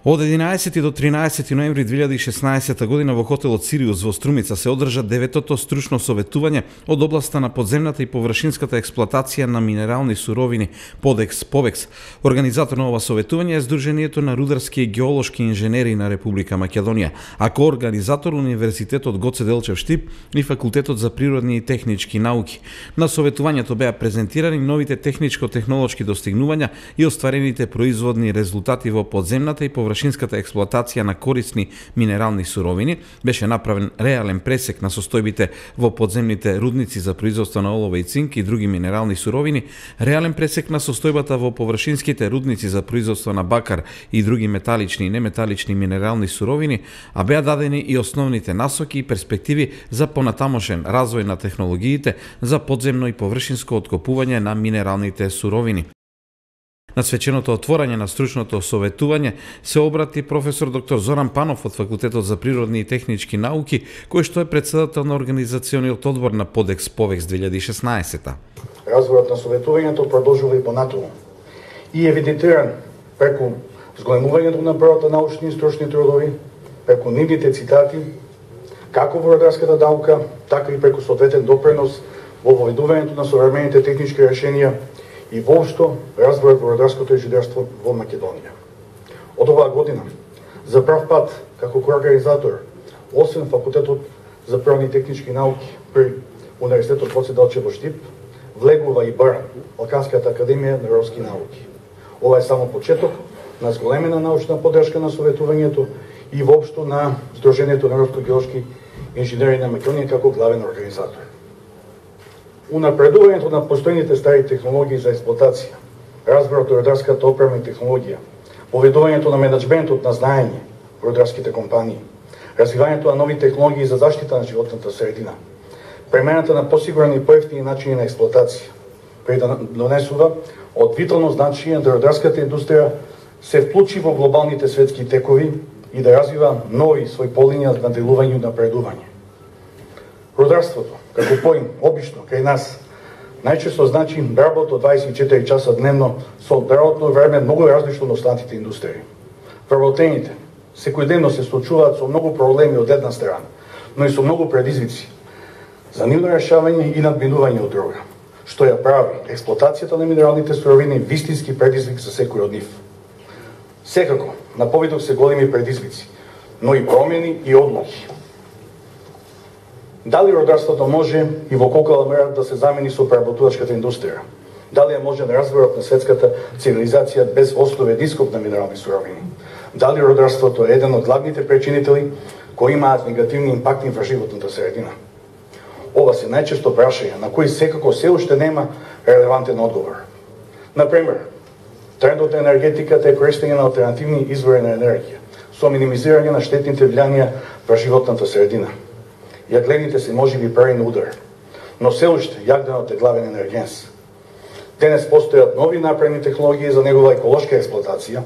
Од 11 до 13 ноември 2016 година во хотелот Сириус во Струмица се одржа 9-тото стручно советување од областа на подземната и површинската експлоатација на минерални суровини ПОДЕКС-ПОВЕКС. Организатор на ова советување е Сдруженијето на рударски и геолошки инженери на Република Македонија, а коорганизатор Универзитетот Гоце Делчев Штип и Факултетот за природни и технички науки. На советувањето беа презентирани новите техничко-технолошки достигнувања и остварените производни резултати во подземната и површинската експлоатација на корисни минерални суровини. Беше направен реален пресек на состојбите во подземните рудници за производство на олово и цинк и други минерални суровини, реален пресек на состојбата во површинските рудници за производство на бакар и други металични и неметалични минерални суровини, а беа дадени и основните насоки и перспективи за понатамошен развој на технологиите за подземно и површинско откопување на минералните суровини. На свеченото отворање на стручното советување се обрати професор доктор Зоран Панов од Факултетот за природни и технички науки, кој што е претседател на организациониот одбор на ПОДЕКС-ПОВЕКС 2016. Разворот на советувањето продолжува и понатаму и евидентиран преку зголемувањето на бројот на научни и стручни трудови, преку нивните цитати, како во рударската наука, така и преку соодветен допринос во воведувањето на современите технички решенија и воопшто разворот во рударското инженерство во Македонија. Од оваа година, за прав пат, како коорганизатор, освен Факултетот за природни и технички науки при Универзитетот Гоце Делчев Штип, влегува и БАР, Балканската академија на рударски науки. Ова е само почеток на зголемена научна поддршка на советувањето и воопшто на Сдруженијето на рударско-геолошки инженери на Македонија како главен организатор. Унапредувањето на постојните стари технологии за експлоатација, разборот на рударската опрема и технологија, поведувањето на менеджментот на знаење во рударските компании, развивањето на нови технологии за заштита на животната средина, премената на посигурни и поевтини начини на експлоатација, донесува од витално значење да рударската индустрија се вклучи во глобалните светски текови и да развива нови своји полиња на делување и напредување. Рударството, како поим, обично, кај нас, најчесто значи работа 24 часа дневно со работно време многу различно од останатите индустрии. Вработените секојдневно се случуваат со многу проблеми од една страна, но и со многу предизвици за нивно решавање и надминување од друга, што ја прави експлоатацијата на минералните суровини вистински предизвик за секој од нив. Секако, на повидок се големи предизвици, но и промени и одлуки. Дали рударството може и во колку мера да се замени со преработувачката индустрија? Дали е можен разворот на светската цивилизација без основен ископ на минерални суровини? Дали рударството е еден од главните причинители кои имаат негативни импакти врз животната средина? Ова се најчесто прашања на кои секако се уште нема релевантен одговор. Например, трендот на енергетиката е користење на алтернативни извори на енергија со минимизирање на штетните влијанија врз животната средина. Јаглените се можеби прави на удар, но се уште јагленот е главен енергенс. Денес постојат нови напредни технологии за негова еколошка експлоатација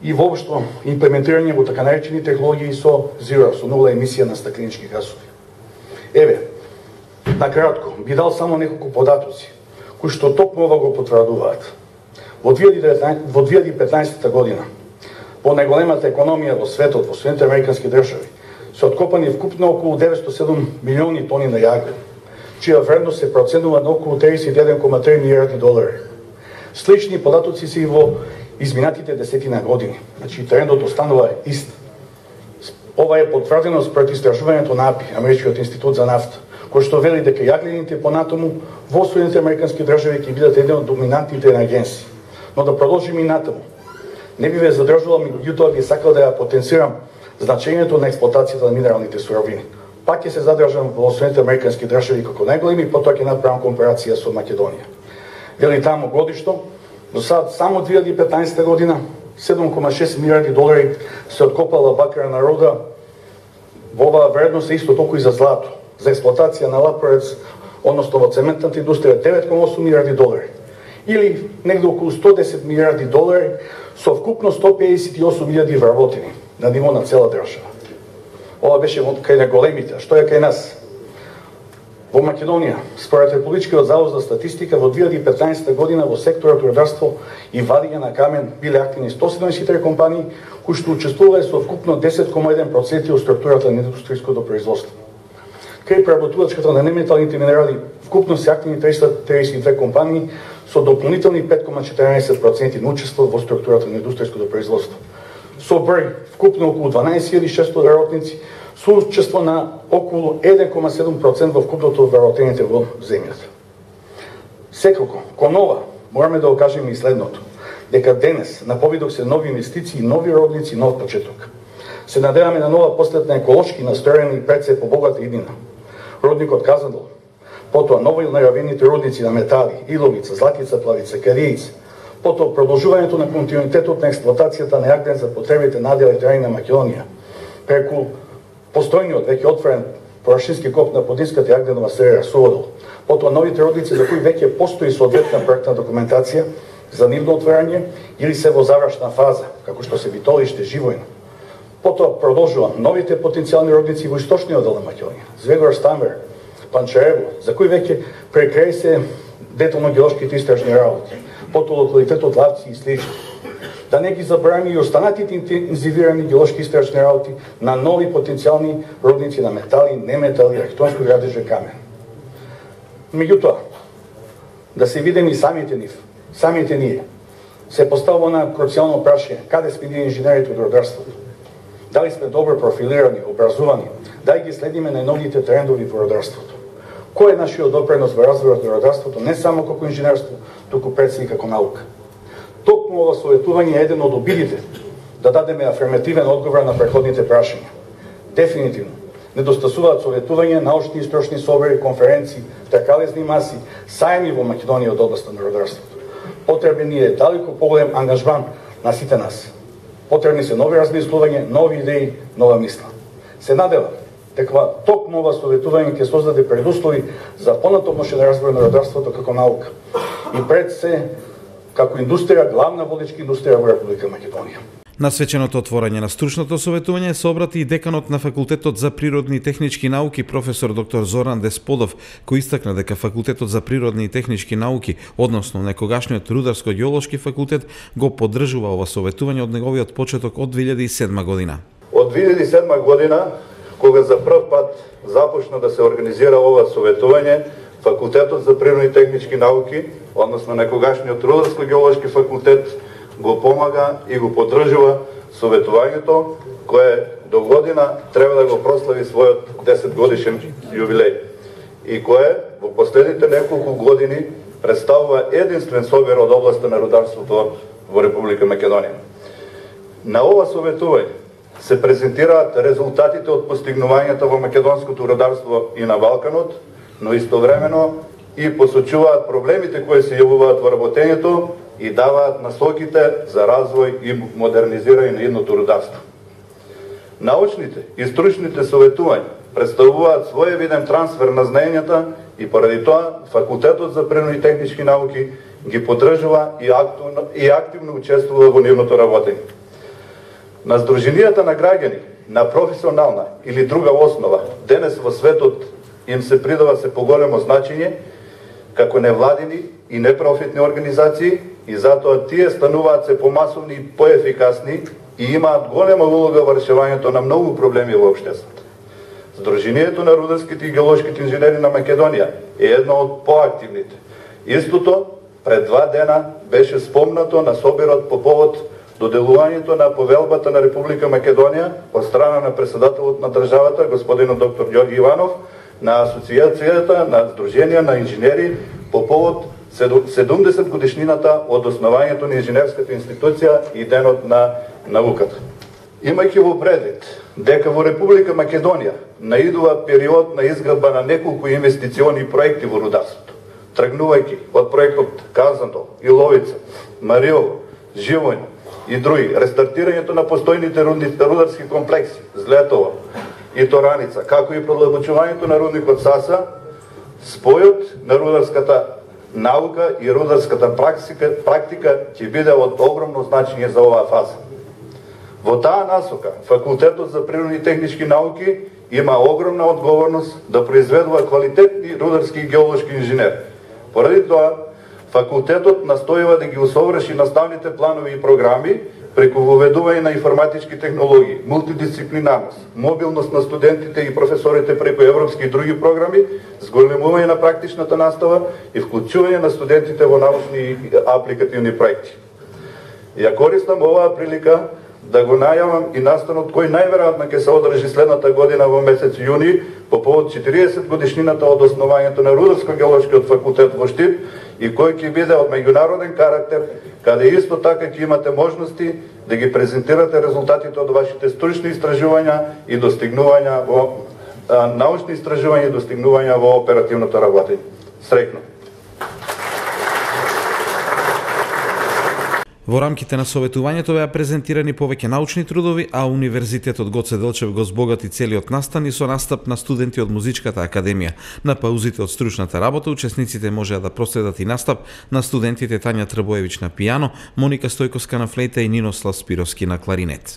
и воопшто имплементирање во така наречени технологии со зеро, со нула емисија на стакленички гасови. Еве, накратко, би дал само неколку податоци, кои што токму ова го потврдуваат. Во 2015 година, по најголемата економија во светот, во Соединетите американски држави, се откопани вкупно околу 907 милиони тони на јаглен, чија вредност се проценува на околу 31,3 милиарди долари. Слични податоци се и во изминатите десетина години. Значи, трендот останува ист. Ова е потврдено според истражувањето на АПИ, Америчкиот институт за нафта, кој што вели дека јаглените понатаму во Соединетите американски држави ќе бидат еден од доминантните енергенси. Но да продолжиме и натаму. Не би ве задржувал, меѓутоа би сакал да ја потенцирам значењето на експлоатацијата на минералните суровини. Пак ќе се задржам во Соединетите американски држави како најголеми и потоа ќе направам компарација со Македонија. Вели таму годишно, до сад само 2015 година 7,6 милиарди долари се откопала бакарна руда, во оваа вредност е исто толку и за злато. За експлоатација на лапорец, односно во цементната индустрија 9,8 милиарди долари. Или негде околу 110 милиарди долари со вкупно 158 милиарди вработени на ниво на цела држава. Ова беше кај на големите, а што е кај нас? Во Македонија, според Републичкиот завод за статистика, во 2015 година во секторот рударство и вадење на камен биле активни 174 компании, кои што учествувале со вкупно 10,1% од структурата на индустријското производство. Кај преработувачката на неметалните минерали, вкупно се активни 332 компании со дополнителни 5,14% на учество во структурата на индустријското производство. Со број вкупно околу 12.600 работници, со учество на околу 1,7% во вкупното од вработените во земјата. Секако, кон ова, мораме да окажеме и следното, дека денес на повидок се нови инвестиции, нови родници, нов почеток. Се надеваме на нова последна еколошки настроена и пред се побогата иднина. Родникот Казандол, потоа нови најавените родници на метали, Иловица, Златица, Плавица, Каријица, потоа продолжувањето на континуитетот на експлоатацијата на јаглен за потребите на електроени на Македонија, преку постојниот веќе отворен површински коп на Подинската јагленова серија Суводол, потоа новите родници за кои веќе постои соодветна проектна документација за нивно отворање или се во завршна фаза, како што се Витолиште, Живојно. Потоа продолжува новите потенцијални родници во источниот дел на Македонија, Звегор, Стамер, Панчарево, за кои веќе прекрај се детално геолошките истражни работи, потоа локалитетот Лавци и слични. Да не ги забраваме и останатите интензивирани геолошки истражни работи на нови потенцијални родници на метали, неметали, архитектонско градеже, камен. Меѓутоа, да се видим и самите ние, се поставува на круцијално прашање, каде сме ние инженерите од рударството? Дали сме добро профилирани, образувани, дали ги следиме најновите трендови во рударството? Кој е нашиот допринос во развојот на рударството, не само како инженерство, туку пред се и како наука? Токму ова советување е еден од обидите да дадеме афирмативен одговор на преходните прашања. Дефинитивно, недостасуваат советување, научни и стручни собори, конференции, тркалезни маси, сајми во Македонија од областа на рударството. Потребен е далеко поголем ангажман на сите нас. Потребни се нови размислување, нови идеи, нова мисла. Се надевам дека токму ова советување ќе создаде предуслови за понатомошен развој на рударството како наука и пред се како индустрија, главна водечка индустрија во Република Македонија. На свеченото отворање на стручното советување се обрати и деканот на Факултетот за природни и технички науки професор доктор Зоран Десподов, кој истакна дека Факултетот за природни и технички науки, односно некогашниот Рударско-геолошки факултет, го поддржува ова советување од неговиот почеток од 2007 година. Од 2007 година, кога за прв пат започна да се организира ова советување, Факултетот за природни и технички науки, односно некогашниот Рударско-геолошки факултет, го помага и го поддржува советувањето, кое до година треба да го прослави својот 10 годишен јубилеј и кое во последните неколку години представува единствен собир од областа на рударството во Република Македонија. На ова советување се презентираат резултатите од постигнувањата во македонското рударство и на Балканот, но истовремено и посочуваат проблемите кои се јавуваат во работењето и даваат насоките за развој и модернизирање на идното рударство. Научните и стручните советувања представуваат своевиден трансфер на знаењата и поради тоа Факултетот за природни и технички науки ги поддржува и активно учествува во нивното работење. На здруженијата на граѓани на професионална или друга основа денес во светот им се придава се поголемо значење како невладини и непрофитни организации и затоа тие стануваат се помасовни и поефикасни и имаат голема улога во решавањето на многу проблеми во општеството. Здруженијето на рударските и геолошките инженери на Македонија е едно од поактивните. Истото пред 2 дена беше спомнато на собирот по повод доделувањето на повелбата на Република Македонија од страна на председателот на државата, господинот доктор Ѓорѓи Иванов, на Асоциацијата на Сдруженија на инженери по повод 70 годишнината од основањето на инженерската институција и денот на науката. Имајќи во предвид дека во Република Македонија наидува период на изградба на неколку инвестициони проекти во рударството, тргнувајќи од проектот Казандол, Иловица, Мариово, Живојно и други, рестартирањето на постојните рударски комплекси, Злетово и Тораница, како и продлабочувањето на рудникот Саса, спојот на рударската наука и рударската практика ќе биде од огромно значење за оваа фаза. Во таа насока, Факултетот за природни и технички науки има огромна одговорност да произведува квалитетни рударски и геолошки инженери. Поради тоа, факултетот настојува да ги усоврши наставните планови и програми преку воведување на информатички технологии, мултидисциплинарност, мобилност на студентите и професорите преку европски и други програми, зголемување на практичната настава и вклучување на студентите во научни и апликативни проекти. Ја користам оваа прилика да го најавам и настанот кој најверојатно ќе се одржи следната година во месец јуни по повод 40 годишнината од основањето на Рударско-геолошкиот факултет во Штип и кој ќе биде од меѓународен карактер, каде исто така ќе имате можности да ги презентирате резултатите од вашите стручни истражувања и достигнувања во научни истражувања и достигнувања во оперативното работење. Среќно! Во рамките на советувањето беа презентирани повеќе научни трудови, а Универзитетот Гоце Делчев го збогати целиот настан и со настап на студенти од Музичката академија. На паузите од стручната работа учесниците можеа да проследат и настап на студентите Тања Трбоевич на пијано, Моника Стојковска на флейта и Нинослав Спировски на кларинет.